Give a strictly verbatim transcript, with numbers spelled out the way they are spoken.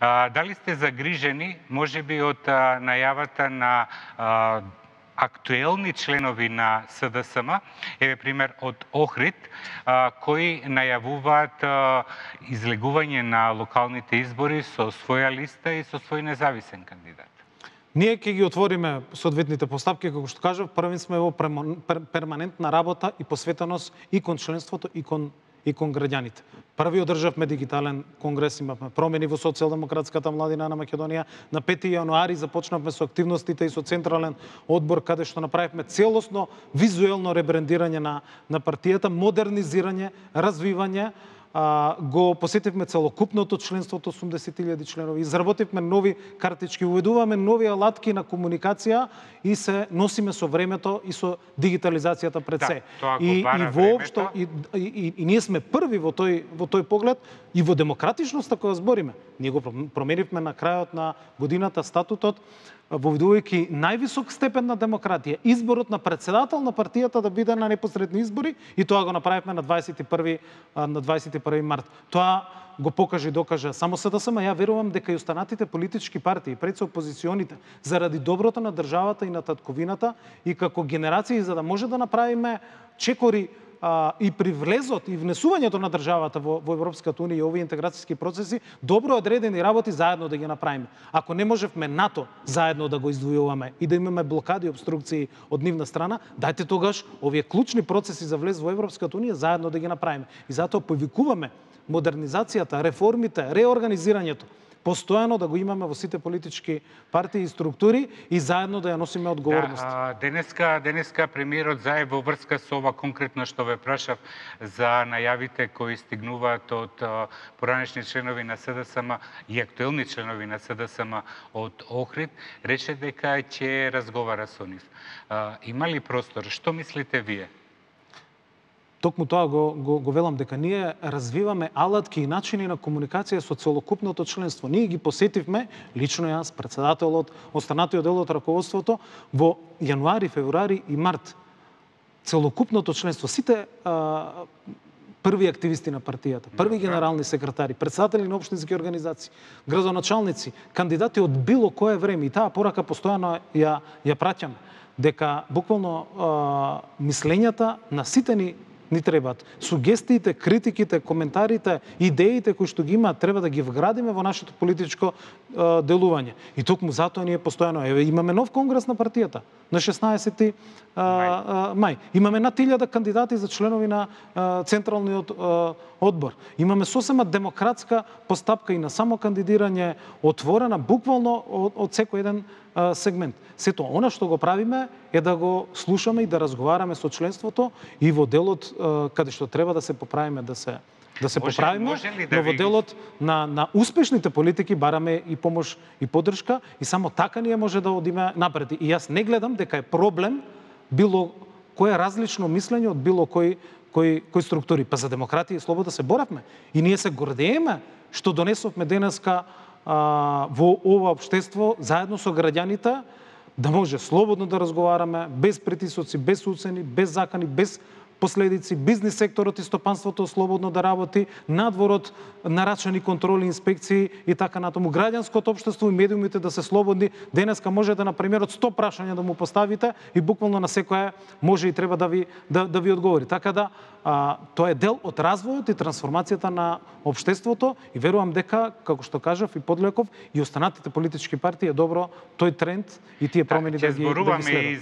А, дали сте загрижени, можеби од а, најавата на а, актуелни членови на СДСМ, еве пример од Охрид, а, кои најавуваат а, излегување на локалните избори со своја листа и со свој независен кандидат? Ние ќе ги отвориме соодветните постапки, како што кажав, први сме во перманентна работа и посветеност и кон членството и кон и кон граѓаните. Први одржавме дигитален конгрес, имавме промени во социјалдемократската младина на Македонија. На пети јануари започнавме со активностите и со централен одбор, каде што направивме целосно визуелно ребрендирање на, на партијата, модернизирање, развивање. А, го посетивме целокупното членството, осумдесет илјади членови, изработивме нови картички, уведуваме нови алатки на комуникација и се носиме со времето и со дигитализацијата пред се. Да, и, и воопшто и, и, и, и ние сме први во тој во тој поглед и во демократичноста која збориме. Ние го променивме на крајот на годината статутот, воведувајќи највисок степен на демократија, изборот на председател на партијата да биде на непосредни избори, и тоа го направивме на дваесет и први на дваесет и први март. Тоа го покажа и докажа само СДСМ. Ја верувам дека и останатите политички партии, пред се опозиционите, заради доброто на државата и на татковината и како генерации, за да може да направиме чекори а, и при влезот и внесувањето на државата во, во Европската унија и овие интеграцијски процеси, добро одредени работи заедно да ги направиме. Ако не можевме НАТО заедно да го издвојуваме и да имаме блокади и обструкции од нивна страна, дајте тогаш овие клучни процеси за влез во Европската унија заедно да ги направиме. И затоа повикуваме модернизацијата, реформите, реорганизирањето, постојано да го имаме во сите политички партии и структури и заедно да ја носиме одговорност. Да, денеска, денеска премиерот Заев во врска со ова конкретно што ве прашав за најавите кои стигнуваат од поранешни членови на СДСМ и актуелни членови на СДСМ од Охрид, рече дека ќе разговара со нив. Има ли простор? Што мислите вие? Токму тоа го, го, го велам, дека ние развиваме алатки и начини на комуникација со целокупното членство. Ние ги посетивме, лично јас, председателот, останатиот дел од раководството, во јануари, февруари и март. Целокупното членство, сите а, први активисти на партијата, први генерални секретари, председатели на општински организации, градоначалници, кандидати од било кое време, и таа порака постојано ја, ја праќаме, дека буквално а, мислењата на сите ни ни требаат. Сугестиите, критиките, коментарите, идеите кои што ги имаат, треба да ги вградиме во нашето политичко е, делување. И токму затоа ние постојано еве имаме нов конгрес на партијата на шеснаесети мај. мај. Имаме над илјада кандидати за членови на е, централниот е, одбор. Имаме сосема демократска постапка и на само кандидирање, отворена буквално од, од секој еден е, сегмент. Сето она што го правиме е да го слушаме и да разговараме со членството и во делот каде што треба да се поправиме, да се да се може, поправиме, може да но во делот ви... на на успешните политики бараме и помош и поддршка и само така ние може да одиме напред. И јас не гледам дека е проблем било кое различно мислење од било кој кој кој структури. Па за демократија и слобода се боравме и ние се гордееме што донесовме денеска а, во ова општество заедно со граѓаните да може слободно да разговараме, без притисоци, без уцени, без закани, без последици, бизнис секторот и стопанството слободно да работи, надворот нарачани контроли, инспекции и така натаму. Граѓанското општество и медиумите да се слободни. Денеска може да на премиерот сто прашања да му поставите и буквално на секоја може и треба да ви да, да ви одговори. Така да а, тоа е дел од развојот и трансформацијата на општеството и верувам дека, како што кажав и Подлеков, и останатите политички партии е добро тој тренд и тие промени да, да ги да ги следат.